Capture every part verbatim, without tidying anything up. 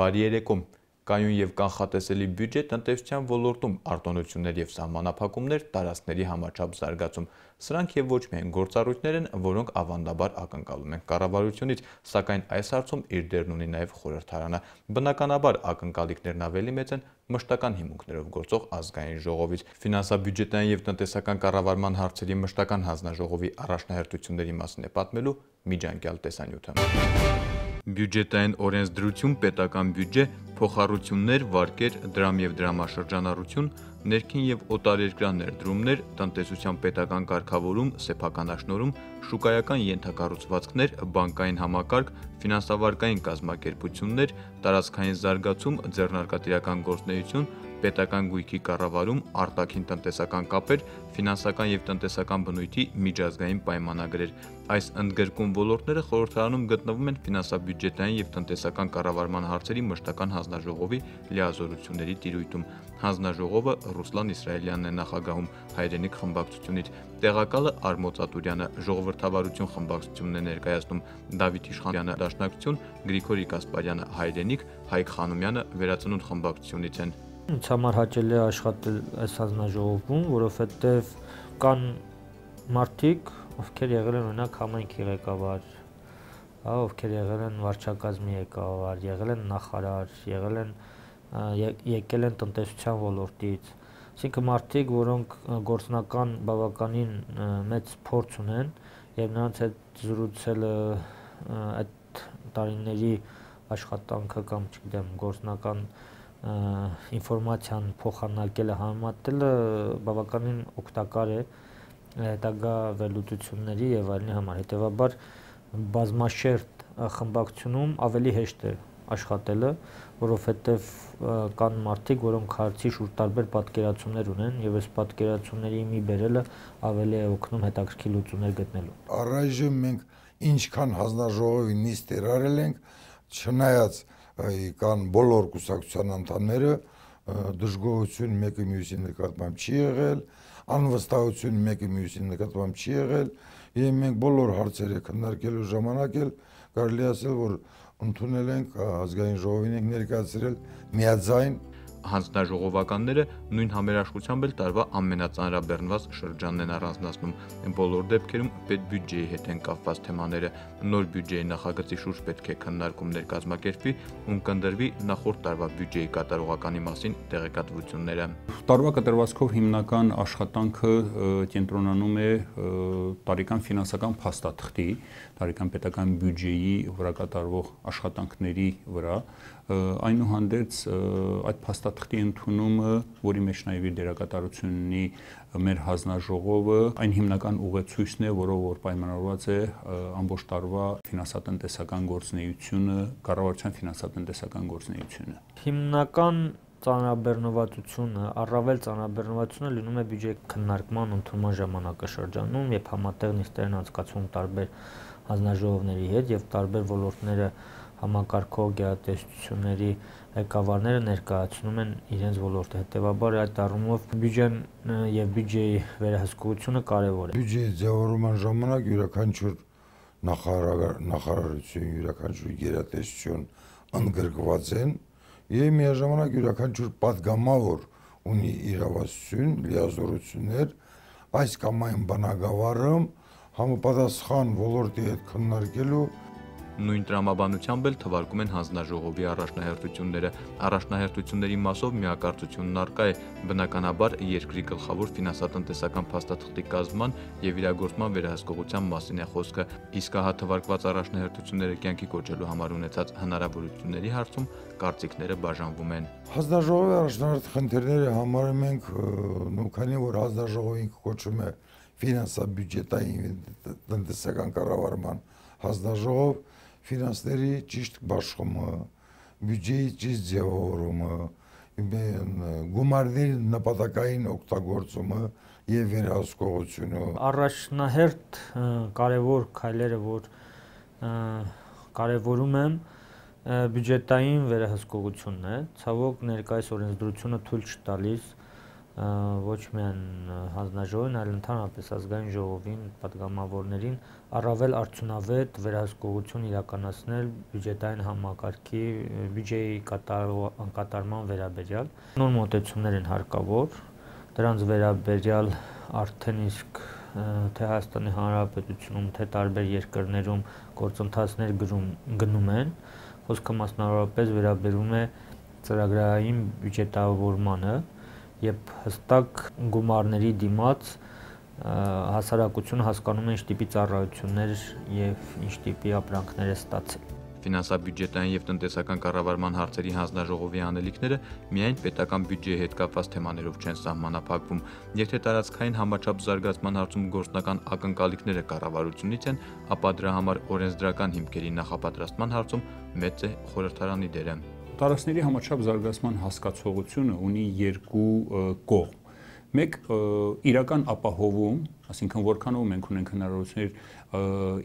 Բարի երեկո։ Կայուն եւ կանխատեսելի բյուջե տնտեսության ոլորտում արտոնություններ եւ սահմանափակումներ տարածքների համաչափ զարգացում։ Սրանք եւ ոչ միայն գործառույթներ են, որոնք ավանդաբար ակնկալում են կառավարությունից, սակայն այս հարցում իր դերն ունի նաեւ խորհրդարանը։ Բնականաբար ակնկալիքներն ավելի մեծ են մշտական հիմունքներով գործող ազգային ժողովից։ Ֆինանսա-բյուջետային եւ տնտեսական կառավարման հարցերի մշտական հանձնաժողովի առաջնահերթությունների մասին է պատմելու միջանկյալ տեսանյութը։ Բյուջետային օրենսդրություն, պետական բյուջե, փոխառություններ, վարկեր, դրամ եւ դրամաշրջանառություն, ներքին եւ օտարերկրյա ներդրումներ, տնտեսության պետական կարգավորում, սեփականաշնորհում, շուկայական ենթակառուցվածքներ, բանկային համակարգ, ֆինանսավարկային կազմակերպություններ, տարածքային զարգացում, ձեռնարկատիրական գործունեություն, պետական գույքի կառավարում, արտաքին տնտեսական կապեր, ֆինանսական եւ տնտեսական բնույթի միջազգային պայմանագրեր։ Այս ընդգրկուն ոլորտները խորհրդարանում գտնվում են ֆինանսա-բյուջետային եւ տնտեսական կառավարման հարցերի մշտական հանձնաժողովի լիազորությունների տիրույթում։ Հանձնաժողովը Ռուսլան Իսրայելյանն է նախագահում հայրենիք խմբակցությունից, տեղակալը Արմոծ Ատուրյանը, ժողովրդավարություն խմբակցությունն է ներկայացնում, Դավիթ Իշխանյանը դաշնակցություն, Գրիգորի Կասպարյանը հայրենիք, Հայկ Խանոմյանը վերածնունդ խմբակցությունից են։ Ինձ համար հաճելի է աշխատել այս հանձնաժողովում, որովհետև կան մարդիկ, ովքեր եղել են օրինակ համայնքի ղեկավար, ովքեր եղել են վարչակազմի ղեկավար, եղել են նախարար, եղել են եկել են տնտեսության ոլորտից, այսինքն մարդիկ, որոնք գործնական բավականին մեծ փորձ ունեն եւ նրանց հետ զրուցելը այդ տարիների աշխատանքը կամ չգիտեմ գործնական ինֆորմացիան փոխանակելը, համեմատելը բավականին օգտակար է հետագա վերլուծությունների եւ այլնի համար։ Հետեւաբար բազմաշերտ խմբակցությունում ավելի հեշտ է աշխատելը, որովհետեւ կան մարդիկ, որոնք հարցի շուրջ տարբեր պատկերացումներ ունեն եւ այս պատկերացումների մի բերելը ավելի է օգնում հետաքրքիր լուծումներ գտնելու։ Առայժմ մենք ինչքան հանձնաժողովի նիստեր արել ենք, չնայած կան բոլոր կուսակցության անդամները, դժգոհություն մեկը մյուսի նկատմամբ չի եղել, անվստահություն մեկը մյուսի նկատմամբ չի եղել, եւ մենք բոլոր հարցերը քննարկելու ժամանակ էլ կարելի ասել, որ ընդունել ենք ազգային ժողովին ենք ներկայացրել միաձայն։ Հանձնաժողովականները նույն համերաշխությամբ էլ տարվա ամենածանրաբեռնված շրջանն են առանձնացնում։ Բոլոր դեպքերում պետբյուջեի հետ են կապված թեմաները։ Նոր բյուջեի նախագծի շուրջ պետք է քննարկումներ կազմակերպվի, ում կընտրվի նախորդ տարվա բյուջեի կատարողականի մասին տեղեկատվությունները։ Տարվա կտրվածքով հիմնական աշխատանքը կենտրոնանում է տարեկան ֆինանսական փաստաթղթի, տարեկան պետական բյուջեի վրա կատարվող աշխատանքների վրա, այնուհանդերձ այդ փաստաթղթի ընդունումը, որի մեջ նաև իր դերակատարություն ունի մեր հանձնաժողովը, այն հիմնական ուղեցույցն է, որով որ պայմանավորված է ամբողջ տարվա ֆինանսատնտեսական գործունեությունը, կառավարության ֆինանսատնտեսական գործունեությունը։ Հիմնական ծանրաբեռնվածությունը, առավել ծանրաբեռնվածությունը լինում է բյուջեի քննարկման ընդունման ժամանակաշրջանում, երբ համատեղ նիստեր են անցկացվում տարբեր հանձնաժողովների հետ եւ տարբեր ոլորտները համակարգող գերատեսչությունների ղեկավարները ներկայացնում են իրենց ոլորտը։ Հետևաբար այդ առումով բյուջեն եւ բյուջեի վերահսկողությունը կարեւոր է։ Բյուջեի ձևավորման ժամանակ յուրաքանչյուր նախարարություն, յուրաքանչյուր գերատեսչություն ընդգրկված են եւ միաժամանակ յուրաքանչյուր պատգամավոր ունի իրավասություն, լիազորություններ, այս կամ այն բնագավառը համապատասխան ոլորտի հետ քննարկելու Նույն տրամաբանությամբ էլ թվարկում են հանձնաժողովի առաջնահերթությունները։ Առաջնահերթությունների մասով միակարծությունն առկա է, բնականաբար երկրի գլխավոր ֆինանսատնտեսական փաստաթղթի կազմման եւ իրագործման վերահսկողության մասին է խոսքը, իսկ հա թվարկված առաջնահերթությունները կյանքի կոչելու համար ունեցած հնարավորությունների հարցում կարծիքները բաժանվում են։ Հանձնաժողովի առաջնահերթ խնդիրները համարում ենք, նույն քանի որ հանձնաժողովին կոչվում է ֆինանսա-բյուջետային տնտեսական կառավարման հանձնաժողով, ֆինանսների ճիշտ բաշխումը, բյուջեի ճիշտ ձևավորումը, գումարների նպատակային օգտագործումը եւ վերահսկողությունը։ Առաջնահերթ կարևոր քայլերը, որ կարևորում եմ, բյուջետային վերահսկողությունն է, ցավոք ներկայիս օրենսդրությունը թույլ չի տալիս ոչ միայն հանձնաժողովին, այլ ընդհանրապես ազգային ժողովին, պատգամավորներին առավել արդյունավետ վերահսկողություն իրականացնել բյուջետային համակարգի բյուջեի կատարման վերաբերյալ։ Նոր մոտեցումներ են հարկավոր, դրանց վերաբերյալ արդեն իսկ թե Հայաստանի Հանրապետությունում, թե տարբեր երկրներում գործընթացներ գնում են, խոսքը մասնավորապես վերաբերում է ծրագրային բյուջետավորմանը, երբ հստակ գումարների դիմաց հասարակությունը հասկանում է ինչ տիպի ծառայություններ եւ ինչ տիպի ապրանքներ է ստացել։ Ֆինանսա-բյուջետային եւ տնտեսական կառավարման հարցերի հանձնաժողովի անելիքները միայն պետական բյուջեի հետ կապված թեմաներով չեն սահմանափակվում, եթե տարածքային համաչափ զարգացման հարցում գործնական ակնկալիքները կառավարությունից են, ապա դրա համար օրենսդրական հիմքերի նախապատրաստման հարցում մեծ է խորհրդարանի դերը։ Տարածքների համաչափ զարգացման հասկացողությունը ունի երկու կողմ։ Մեկ իրական ապահովում, այսինքն որքանով մենք ունենք հնարավորություններ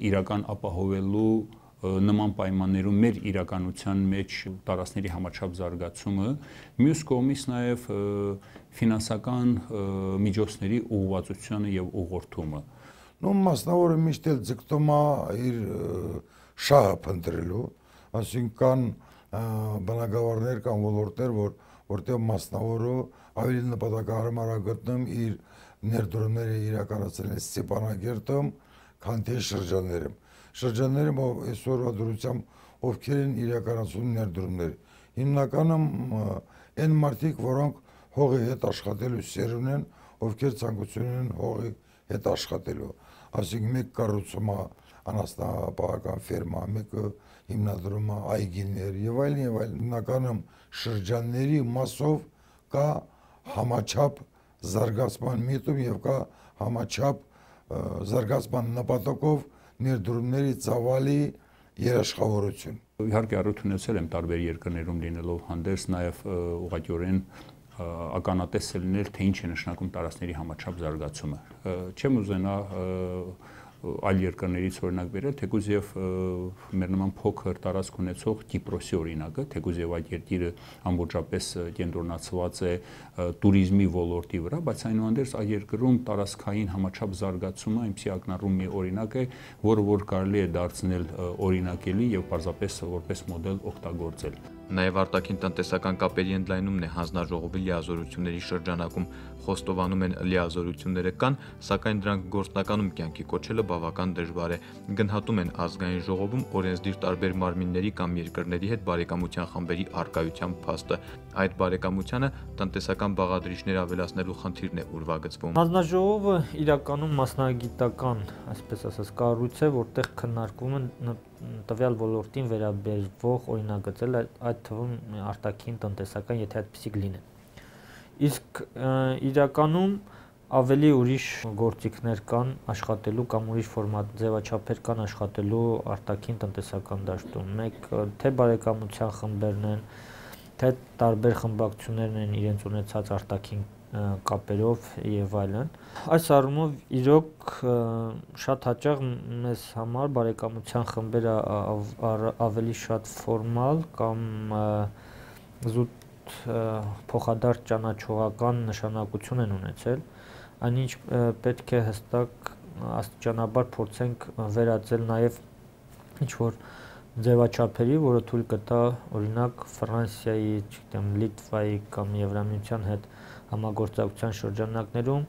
իրական ապահովելու նման պայմաններում մեր իրականության մեջ տարածքների համաչափ զարգացումը, մյուս կողմից նաև ֆինանսական միջոցների ուղղվածությունը եւ ուղղորդումը։ Նո մասնավորը միշտ էլ ձգտում է իր շահը փնտրելու, այսինքն բնակավարներ կամ ոլորտներ, որ որտեղ մասնավորը ավելի նպատակահարմար է գտնում իր ներդրումները իրականացնել Ստեփանագերտում, քան թե շրջաններում։ Շրջաններում այսօրվա դրությամբ ովքեր են իրականացնում ներդրումներ։ Հիմնականում այն մարդիկ, որոնք հողի հետ աշխատելու սերուն են, ովքեր ցանկություն ունեն հողի հետ աշխատելու։ Այսինքն մեկ կառուցում է անասնապահական ֆերմա, մեկը հիմնադրում է այգիներ եւ այլն եւ այլն։ Հիմնականում շրջանների մասով կա համաչափ զարգացման միտում եւ կա համաչափ զարգացման նպատակով ներդրումների ծավալի երաշխավորություն։ Իհարկե առիթ ունեցել եմ տարբեր երկրներում լինելով հանդերձ նաև ուղղակիորեն ականատես լինել, թե ինչ է նշանակում տարածքների համաչափ զարգացումը։ Չեմ ուզենա այլ երկրներից օրինակ բերել, թեկուզ եւ մեր նման փոքր տարածք ունեցող Կիպրոսի օրինակը, թեկուզ եւ այդ երկիրը ամբողջապես կենտրոնացված է туриզմի ոլորտի վրա, բայց այնուհանդերձ այդ երկրում տարածքային համաչափ զարգացումը այնպիսի ակնառու մի օրինակ է, որը որ կարելի է դարձնել օրինակելի եւ պարզապես որպես մոդել օգտագործել։ Նաև արտաքին տնտեսական կապերի ընդլայնումն է հանձնաժողովի լիազորությունների շրջանակում, խոստովանում են լիազորությունները կան, սակայն դրանք գործնականում կյանքի կոչելը բավական դժվար է։ Գնահատում են ազգային ժողովում օրենսդիր տարբեր մարմինների կամ երկրների հետ բարեկամության խմբերի առկայության փաստը։ Այդ բարեկամությանը տնտեսական բաղադրիչներ ավելացնելու խնդիրն է ուրվագծվում։ Հանձնաժողովը իրականում մասնագիտական, այսպես ասած, կառույց է, որտեղ քննարկվում են տվյալ ոլորտին վերաբերվող օրինագծել, այդ թվում արտաքին տնտեսական, եթե այդպիսի լինեն։ Իսկ իրականում ավելի ուրիշ գործիքներ կան աշխատելու կամ ուրիշ ֆորմատ ձևաչափեր կան աշխատելու արտաքին տնտեսական դաշտում։ Մեկ թե բարեկամության խմբերն են, թե տարբեր խմբակցություններն են իրենց ունեցած արտաքին կապերով եւ այլն։ Այս առումով իրոք շատ հաճախ մեզ համար բարեկամության խմբերը ավելի շատ ֆորմալ կամ զուտ փոխադարձ ճանաչողական նշանակություն են ունեցել, այնինչ պետք է հստակ աստիճանաբար փորձենք վերածել նաեւ ինչ որ ձևաչափերի, որը թույլ կտա օրինակ Ֆրանսիայի, չգիտեմ, Լիտվայի կամ Եվրամիության հետ համագործակցության շրջանակներում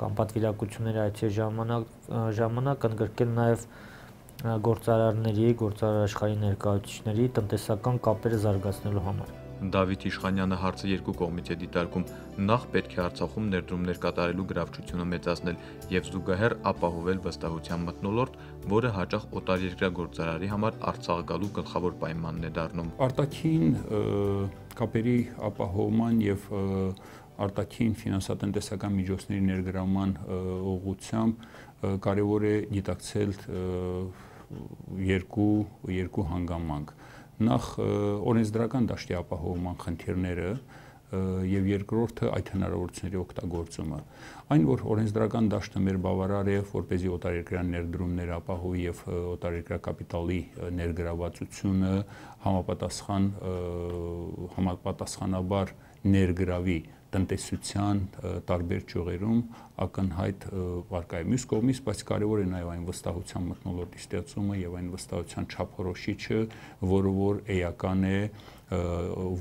կամ պատվիրակությունների այցի ժամանակ ժամանակ ընդգրկել նաև գործարարների, գործարար աշխարհի ներկայացուցիչների տնտեսական կապերը զարգացնելու համար։ Դավիթ Իշխանյանը հարցը երկու կողմից է դիտարկում։ Նախ պետք է Արցախում ներդրումներ կատարելու գրավչությունը մեծացնել եւ զուգահեռ ապահովել վստահության մթնոլորտ, որը հաճախ օտարերկրյա գործարարի համար Արցախ գալու գլխավոր պայմանն է դառնում։ Արտաքին կապերի ապահովման եւ արտաքին ֆինանսատնտեսական միջոցների ներգրավման ուղղությամբ կարևոր է գիտակցել երկու երկու հանգամանք։ Նախ օրենսդրական դաշտի ապահովման խնդիրները, եւ երկրորդը այդ հնարավորությունների օգտագործումը։ Այն, որ օրենսդրական դաշտը մեր բավարար է, որպեսզի օտարերկրյա ներդրումներ ապահովի եւ օտարերկրյա կապիտալի ներգրավվածությունը համապատասխան համապատասխանաբար ներգրավի տնտեսության տարբեր ճյուղերում ակնհայտ վարկա է։ Մյուս կողմից, բայց կարևոր է նաև այն վստահության մթնոլորտի ստեղծումը եւ այն վստահության չափորոշիչը, որը որ էական է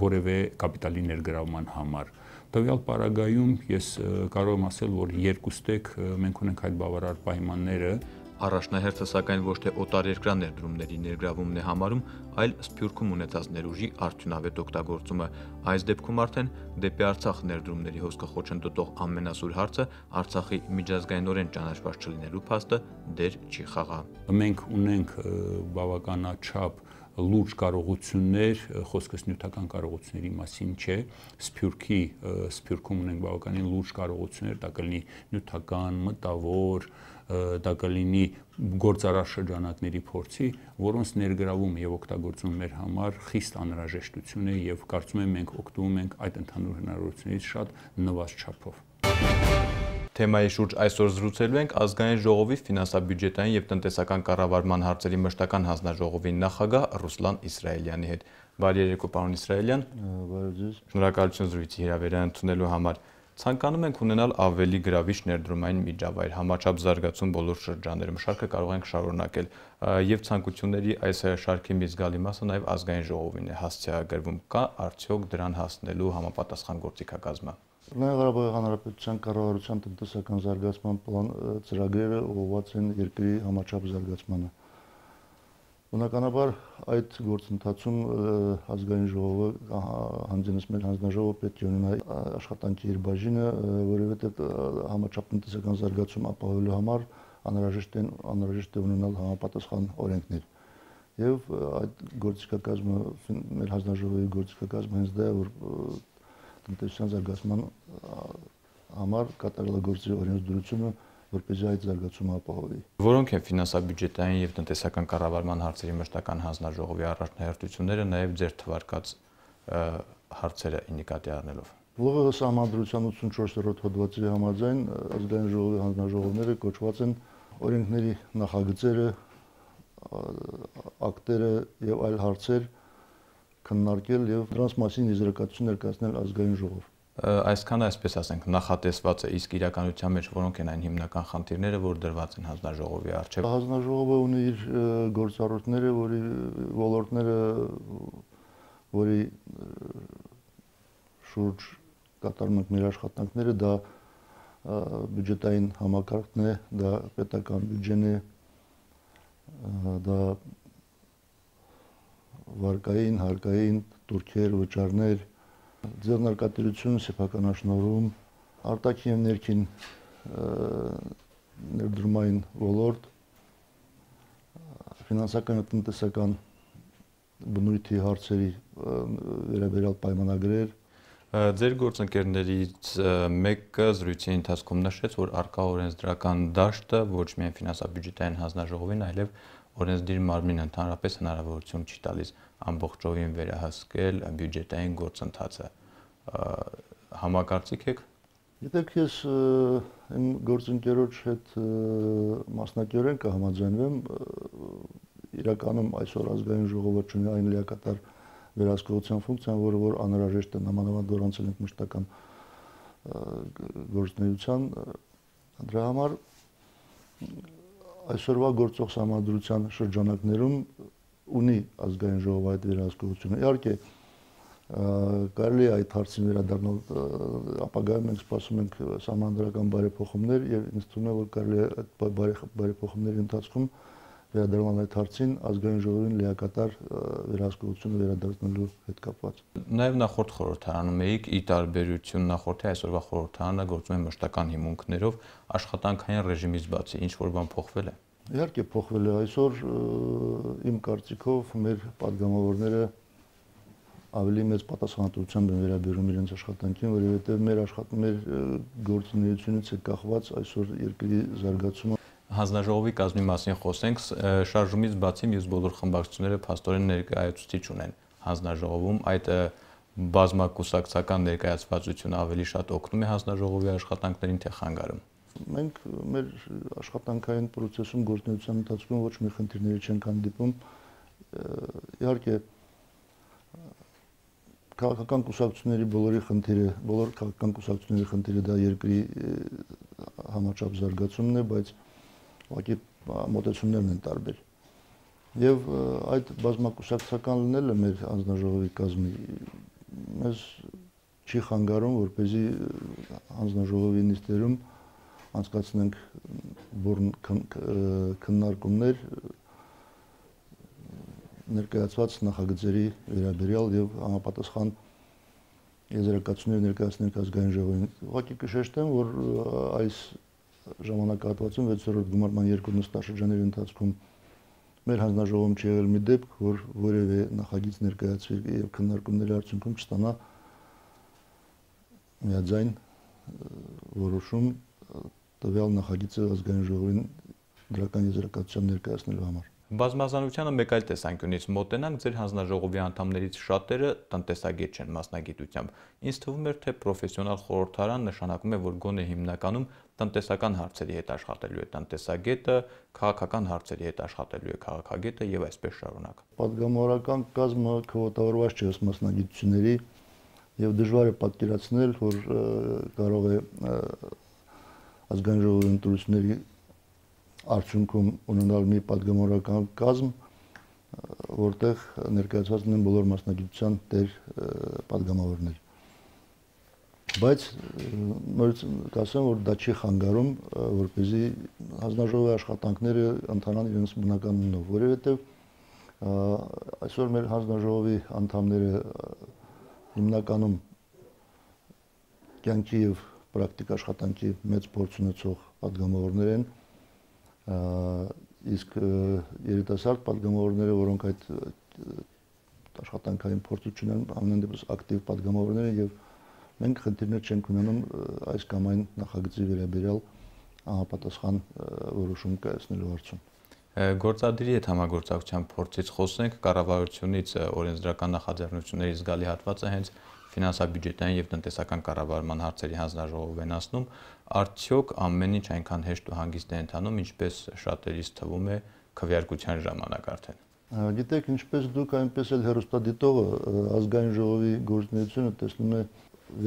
որևէ կապիտալի ներգրավման համար։ Տվյալ պարագայում ես կարող եմ ասել, որ երկուստեք մենք ունենք այդ բավարար պայմանները։ Առաջնահերթը սակայն ոչ թե օտարերկրյա ներդրումների ներգրավումն է համարում, այլ Սփյուռքում ունեցած ներուժի արդյունավետ օգտագործումը։ Այս դեպքում արդեն դեպի Արցախ ներդրումների հոսքը խոչընդոտող ամենասուր հարցը Արցախի միջազգայինորեն ճանաչված չլինելու փաստը դեր չի խաղա։ Մենք ունենք բավականաչափ լուրջ կարողություններ, խոսքս նյութական կարողությունների մասին չէ, Սփյուռքի Սփյուռքում ունենք բավականին լուրջ կարողություններ, դա կլինի նյութական, մտավոր, դա կլինի գործարար շրջանակների փորձի, որոնց ներգրավումը եւ օգտագործումը մեր համար խիստ անհրաժեշտություն է եւ կարծում եմ մենք օգտվում ենք այդ ընդհանուր հնարավորություններից շատ նվազ չափով։ Թեմայի շուրջ այսօր զրուցելու ենք ազգային ժողովի ֆինանսա-բյուջետային եւ տնտեսական կառավարման հարցերի մշտական հանձնաժողովի նախագահ Ռուսլան Իսրայելյանի հետ։ Բարի երեկո, պարոն Իսրայելյան։ Բարի ձեզ։ Շնորհակալություն զրույցի հրավերն ընդունելու համար։ Ցանկանում ենք ունենալ ավելի գրավիչ ներդրումային միջավայր, համաչափ զարգացում բոլոր շրջաններում, շարքը կարող ենք շարունակել եւ ցանկությունների այս շարքի մի զգալի մասը նաեւ ազգային ժողովին է հասցեագրվում։ Կա արդյոք դրան հասնելու համապատասխան գործիքակազմը։ Լեռնային Ղարաբաղի Հանրապետության կառավարության տնտեսական զարգացման պլան ծրագրերը ուղղված են երկրի համաչափ զարգացմանը։ Բնականաբար այդ գործընթացում ազգային ժողովը հանձնես մեր հանձնաժողովը պետք է ունենա աշխատանքի իր բաժինը, որովհետև համաչափ տնտեսական զարգացում ապահովելու համար անհրաժեշտ է անհրաժեշտ է ունենալ համապատասխան օրենքներ։ Եվ այդ գործիքակազմը մեր հանձնաժողովի գործիքակազմը հենց դա է, որ տնտեսության զարգացման համար կատարելագործի օրենսդրությունը, որպեսզի այդ զարգացումը ապահովի։ Որոնք են ֆինանսա-բյուջետային եւ տնտեսական կառավարման հարցերի մշտական հանձնաժողովի առաջնահերթությունները, նաեւ ձեր թվարկած հարցերը նկատի առնելով։ ԼՂՀ սահմանադրության ութսունչորսերորդ հոդվածի համաձայն ազգային ժողովի հանձնաժողովները կոչված են օրենքների նախագծերը, ակտերը եւ այլ հարցեր քննարկել եւ դրանց մասին եզրակացություն ներկայացնել ազգային ժողով։ Այսքան այսպես ասենք նախատեսված է, իսկ իրականության մեջ որոնք են այն հիմնական խնդիրները, որ դրված են հանձնաժողովի առջև։ Հանձնաժողովը ունի իր գործառույթները, որի ոլորտները, որի շուրջ կատարում ենք մեր աշխատանքները, դա բյուջետային համակարգն է, դա պետական բյուջեն է, դա վարկային, հարկային, տուրքեր, վճարներ, ձեռնարկատիրություն, սեփականաշնորհում, արտաքին եւ ներքին ներդրումային ոլորտ, ֆինանսական եւ տնտեսական բնույթի հարցերի վերաբերյալ պայմանագրեր։ Ձեր գործընկերներից մեկը զրույցի ընթացքում նշեց, որ արկա օրենսդրական դաշտը ոչ միայն ֆինանսա-բյուջետային հանձնաժողովին, այլև օրենսդիր մարմին ընդհանրապես հնարավորություն չի տալիս ամբողջովին վերահսկել բյուջետային գործընթացը։ Համակարծիք եք։ Գիտեք, ես իմ գործընկերոջ հետ մասնակիորեն կհամաձայնվեմ, իրականում այսօր ազգային ժողովը ունի այն լիակատար վերահսկողության ֆունկցիան, որը որ անհրաժեշտ է, նամանավանդ որ անցել ենք մշտական գործունեության, դրա համար այսօրվա գործող սահմանադրության շրջանակներում ունի ազգային ժողովը այդ վերահսկողությունը։ Իհարկե, կարելի է այդ հարցին վերադառնալ, ապագայում մենք սպասում ենք սահմանադրական բարեփոխումներ եւ ինձ թվում է, որ կարելի է այդ բարեփոխումների ընթացքում վերադառնալ այդ հարցին ազգային ժողովին լիակատար վերահսկողությունը վերադարձնելու հետ կապված։ Նաև նախորդ խորհրդարանում էիք, ի տարբերություն նախորդի այսօրվա խորհրդարանը գործում է մշտական հիմունքներով, աշխատանքային ռեժիմից բացի ինչ որ բան փոխվել է։ Իհարկե փոխվել է, այսօր իմ կարծիքով մեր падգամավորները ավելի մեծ պատասխանատվությամբ են վերաբերում իրենց աշխատանքին, որովհետև մեր աշխատում մեր գործունեությունից է կախված այսօր երկրի զարգացումը։ Հանձնաժողովի կազմի մասին խոսենք, շարժումից բացի մյուս բոլոր խմբակցությունները փաստորեն ներկայացուցիչ ունեն հանձնաժողովում, այդ Բազմակուսակցական ներկայացվածությունը ավելի շատ օգնում է հանձնաժողովի աշխատանքներին, թե խանգարում։ Մենք մեր աշխատանքային process-ում գործունեության ընթացքում ոչ մի խնդիրների չենք հանդիպում։ Իհարկե քաղաքական կուսակցությունների բոլորի խնդիրը, բոլոր քաղաքական կուսակցությունների խնդիրը դա երկրի համաչափ զարգացումն է, բայց ուղղակի մոտեցումներն են տարբեր։ Եվ այդ բազմակուսակցական լինելը մեր հանձնաժողովի կազմի մեզ չի խանգարում, որպեսզի հանձնաժողովի նիստերում անցկացնենք բուրն քննարկումներ ներկայացված նախագծերի վերաբերյալ եւ համապատասխան եզրակացություններ ներկայացնենք ազգային ժողովին։ Ուղղակի կշեշտեմ, որ այս ժամանակահատվածում վեցերորդ գումարման երկու նստաշրջանների ընթացքում մեր հանձնաժողովում չի եղել մի դեպք, որ որևէ նախագիծ ներկայացվի եւ քննարկումների արդյունքում չստանա միաձայն որոշում տվյալ նախագիծը ազգային ժողովին դրական եզրակացության ներկայացնելու համար։ Բազմազանությանը մեկ այլ տեսանկյունից մոտենանք, ձեր հանձնաժողովի անդամներից շատերը տնտեսագետ չեն մասնագիտությամբ։ Ինձ թվում էր, թե պրոֆեսիոնալ խորհրդարան նշանակում է, որ գոնե հիմնականում տնտեսական հարցերի հետ աշխատելու է տնտեսագետը, քաղաքական հարցերի հետ աշխատելու է քաղաքագետը եւ այսպես շարունակ։ Պատգամավորական կազմը քվոտավորված չէ ըստ մասնագիտությունների եւ դժվար է պատկերացնել, որ կարող է ազգային ժողովի ընտրությունների արդյունքում ունենալ մի պատգամավորական կազմ, որտեղ ներկայացված են բոլոր մասնագիտության տեր պատգամավորներ։ Բայց նորից կասեմ, որ դա չի խանգարում, որպեսզի հանձնաժողովի աշխատանքները ընթանան իրենց բնական ուղով, որովհետև այսօր մեր հանձնաժողովի անդամները հիմնականում կյանքի եւ պրակտիկ աշխատանքի մեծ փորձ ունեցող պատգամավորներ են, իսկ երիտասարդ պատգամավորները, որոնք այդ աշխատանքային փորձը չունեն, ամեն դեպս ակտիվ պատգամավորներ են եւ մենք խնդիրներ չենք ունենում այս կամ այն նախագծի վերաբերյալ համապատասխան որոշում կայացնելու հարցում։ Գործադիրի հետ համագործակցության փորձից խոսենք, կառավարությունից օրենսդրական նախաձեռնությունների զգալի հատվածը հենց ֆինանսա-բյուջետային եւ տնտեսական կառավարման հարցերի հանձնաժողով են ասնում, արդյոք ամեն ինչ այնքան հեշտ ու հանգիստ է ընթանում, ինչպես շատերիս թվում է քվեարկության ժամանակ արդեն։ Գիտեք, ինչպես դուք, այնպես էլ հեռուստադիտողը ազգային ժողովի գործունեությունը տեսնում է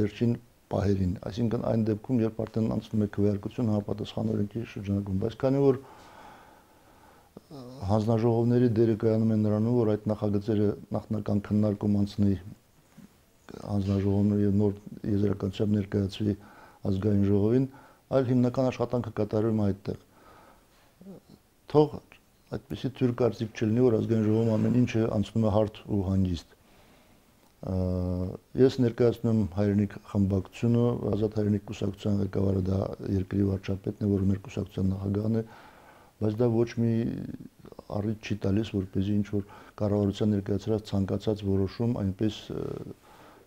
վերջին պահերին, այսինքն այն դեպքում, երբ արդեն անցնում է քվեարկություն համապատասխան օրենքի շրջանակում, բայց քանի որ հանձնաժողովների դերը կայանում է նրանում, որ այդ նախագծերը նախնական քննարկում անցնի հանձնաժողովների եւ նոր եզրակացությամբ ներկայացվի ազգային ժողովին, այլ հիմնական աշխատանքը կատարվում է այդտեղ։ Թող այդպեսի թյուր կարծիք չլինի, որ ազգային ժողովում ամեն ինչը անցնում է հարթ ու հանգիստ։ Ես ներկայացնում եմ հայրենիք խմբակցությունը, Ազատ հայրենիք կուսակցության ղեկավարը դա երկրի վարչապետն է, որը մեր կուսակցության նախագահն է, բայց դա ոչ մի առիթ չի տալիս, որպեսզի ինչ որ կառավարության ներկայացրած ցանկացած որոշում այնպես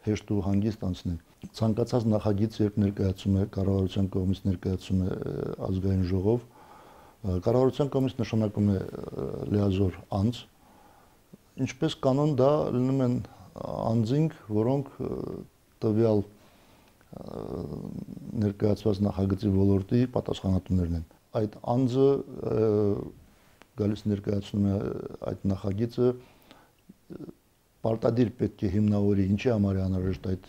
հեշտ ու հանգիստ անցնի։ Ցանկացած նախագիծ երբ ներկայացում է կառավարության կողմից ներկայացում է ազգային ժողով, կառավարության կողմից նշանակում է լիազոր անձ, ինչպես կանոն դա լինում են անձինք, որոնք տվյալ ներկայացված նախագծի ոլորտի պատասխանատուներն են։ Այդ անձը գալիս ներկայացնում է այդ նախագիծը, պարտադիր պետք է հիմնավորի ինչի համար է անհրաժեշտ այդ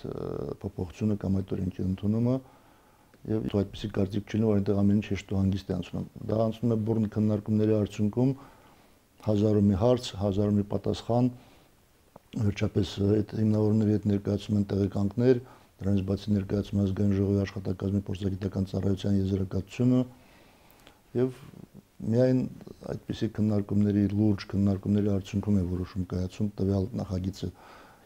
փոփոխությունը կամ այդ օրենքի ընդունումը եւ այդպեսի կարծիք չունի, որ այնտեղ ամեն ինչ հեշտ ու հանգիստ է անցնում։ Դա անցնում է բուրն քննարկումների արդյունքում, հազարու մի հարց, հազարու մի պատասխան, վերջապես այդ հիմնավորների հետ ներկայացում են տեղեկանքներ, դրանից բացի ներկայացում ազգային ժողովի աշխատակազմի փորձագիտական ծառայության եզրակացությունը եւ միայն այդպիսի քննարկումների լուրջ քննարկումների արդյունքում է որոշում կայացում տվյալ նախագիծը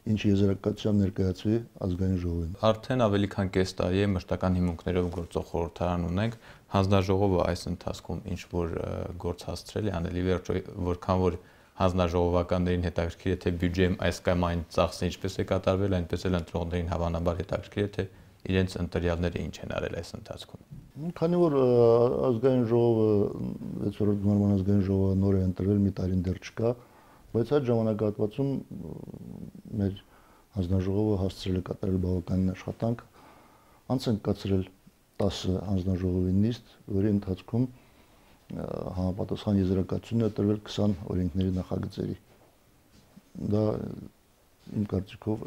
ինչ եզրակացությամբ ներկայացվի ազգային ժողովին։ Արդեն ավելի քան կես տարի է մշտական հիմունքներով գործող խորհրդարան ունենք, հանձնաժողովը այս ընթացքում ինչ որ գործ հասցրել է անել, ի վերջո որքան որ հանձնաժողովականներին հետաքրքիր է թե բյուջեում այս կամ այն ծախսը ինչպես է կատարվել, այնպես էլ ընտրողներին հավանաբար հետաքրքիր է թե իրենց ընտրյալները ինչ են արել այս ընթացքում։ Քանի որ ազգային ժողովը վեցերորդ գումարման ազգային ժողովը նոր է ընտրվել, մի տարին դեռ չկա, բայց այդ ժամանակահատվածում մեր հանձնաժողովը հասցրել է կատարել բավականին աշխատանք, անց են կացրել տասը հանձնաժողովի նիստ, որի ընթացքում համապատասխան եզրակացություն է տրվել քսան օրենքների նախագծերի։ Դա իմ կարծիքով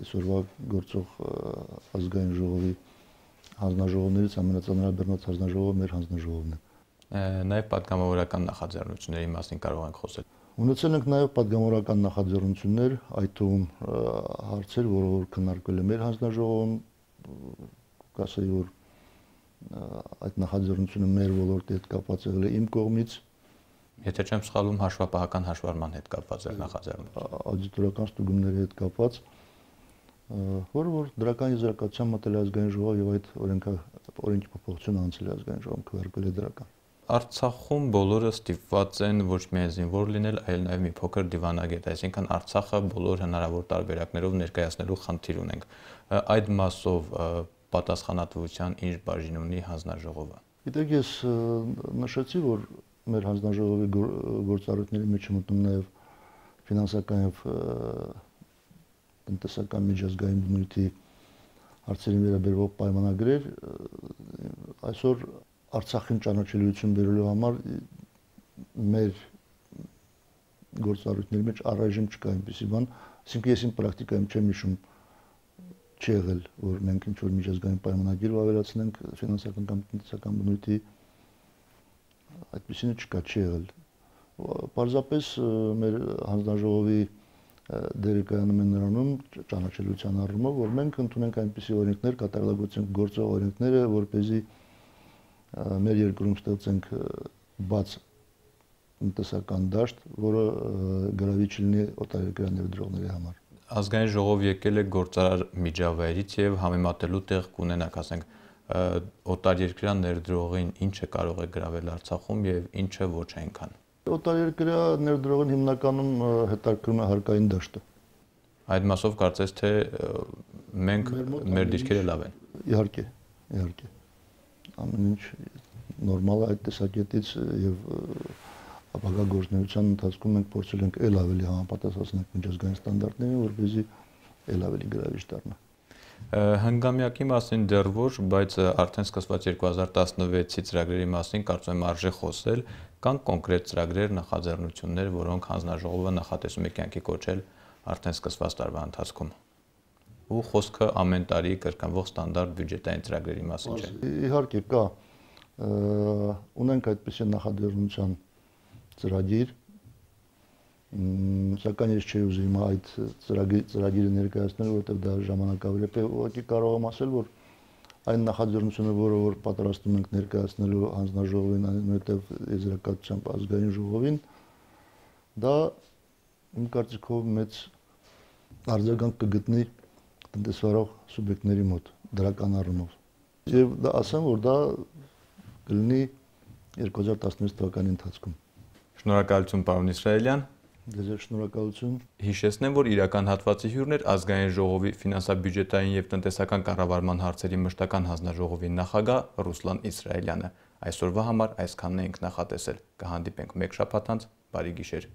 այսօրվա գործող ազգային ժողովի հանձնաժողովներից ամենածանրաբեռնված հանձնաժողովը մեր հանձնաժողովն է։ Նաև պատգամավորական նախաձեռնությունների մասին կարող ենք խոսել։ Ունեցել ենք նաև պատգամավորական նախաձեռնություններ, այդ թվում հարցեր, որը որ քննարկվել է մեր հանձնաժողովում, կասեի, որ այդ նախաձեռնությունը մեր ոլորտի հետ կապված եղել է իմ կողմից։ Եթե չեմ սխալվում, հաշվապահական հաշվառման հետ կապված էր նախաձեռնությունը։ Աուդիտորական ստուգումների հետ կապված, որը որ դրական եզրակացության մտել է ազգային ժողով եւ այդ օրենքի փոփոխությունը անցել է ազգային ժողովում, քվեարկվել է դրական։ Արցախում բոլորը ստիպված են ոչ միայն զինվոր լինել, այլ նաև մի փոքր դիվանագետ, այսինքն Արցախը բոլոր հնարավոր տարբերակներով ներկայացնելու խնդիր ունենք։ Այդ մասով պատասխանատվության ինչ բաժին ունի հանձնաժողովը։ Գիտեք, ես նշեցի, որ մեր հանձնաժողովի գործառույթների մեջ մտնում նաև ֆինանսական եւ տնտեսական միջազգային բնույթի հարցերին վերաբերող պայմանագրեր, այսօր Արցախին ճանաչելիություն բերելու համար մեր գործառույթների մեջ առայժմ չկա այնպիսի բան, այսինքն ես իմ պրակտիկայում չեմ հիշում չի եղել, որ մենք ինչ-որ միջազգային պայմանագիր ավելացնենք ֆինանսական կամ տնտեսական բնույթի, այդպիսինը չկա, չի եղել։ Պարզապես մեր հանձնաժողովի դերը կայանում է նրանում ճանաչելիության առումով, որ մենք ընդունենք այնպիսի օրենքներ, կատարելագործենք գործող օրենքները, որպեսզի մեր երկրում ստեղծենք բաց տնտեսական դաշտ, որը գրավիչ լինի օտարերկրյա ներդրողների համար։ Ազգային ժողով եկել է գործարար միջավայրից եւ համեմատելու տեղ կունենաք, ասենք, օտարերկրյա ներդրողին ինչը կարող է գրավել Արցախում եւ ինչը ոչ այնքան։ Օտարերկրյա ներդրողին հիմնականում հետաքրքրում է հարկային դաշտը։ Այդ մասով կարծես թե մենք մեր դիրքերը լավ են։ Իհարկե, իհարկե։ Ամեն ինչ նորմալ է այդ տեսակետից եւ ապագա գործունեության ընթացքում մենք փորձել ենք ել ավելի համապատասխանել միջազգային ստանդարտներին, որպեսզի ել ավելի գրավիչ դառնա։ Հնգամյակի մասին դեռ ոչ, բայց արդեն սկսված երկու հազար տասնվեցի ծրագրերի մասին կարծում եմ արժե խոսել, կան կոնկրետ ծրագրեր, նախաձեռնություններ, որոնք հանձնաժողովը նախատեսում է կյանքի կոչել արդեն սկսված տարվա ընթացքում։ Ու խոսքը ամեն տարի կրկնվող ստանդարտ բյուջետային ծրագրերի մասին չէ։ Իհարկե կա, ունենք այդպիսի նախաձեռնության ծրագիր, սակայն ես չէի ուզում այդ ծրագիրը ներկայացնել, որովհետև դա ժամանակավրեպ է, ուղղակի կարող եմ ասել, որ այն նախաձեռնությունը, որը որ պատրաստում ենք ներկայացնելու հանձնաժողովին, այնուհետև եզրակացությամբ ազգային ժողովին, դա իմ կարծիքով մեծ արձագանք կգտնի տնտեսվարող սուբյեկտների մոտ դրական առումով։ Եվ դա ասեմ, որ դա կլինի երկու հազար տասնվեց թվականի ընթացքում։ Շնորհակալություն, պարոն Իսրայելյան։ Ձեզ շնորհակալություն։ Հիշեցնեմ, որ իրական հատվածի հյուրն էր ազգային ժողովի ֆինանսա-բյուջետային եւ տնտեսական կառավարման հարցերի մշտական հանձնաժողովի նախագահ Ռուսլան Իսրայելյանը։ Այսօրվա համար այսքանն ենք նախատեսել։ Կհանդիպենք մեկ շաբաթ անց, բարի գիշեր։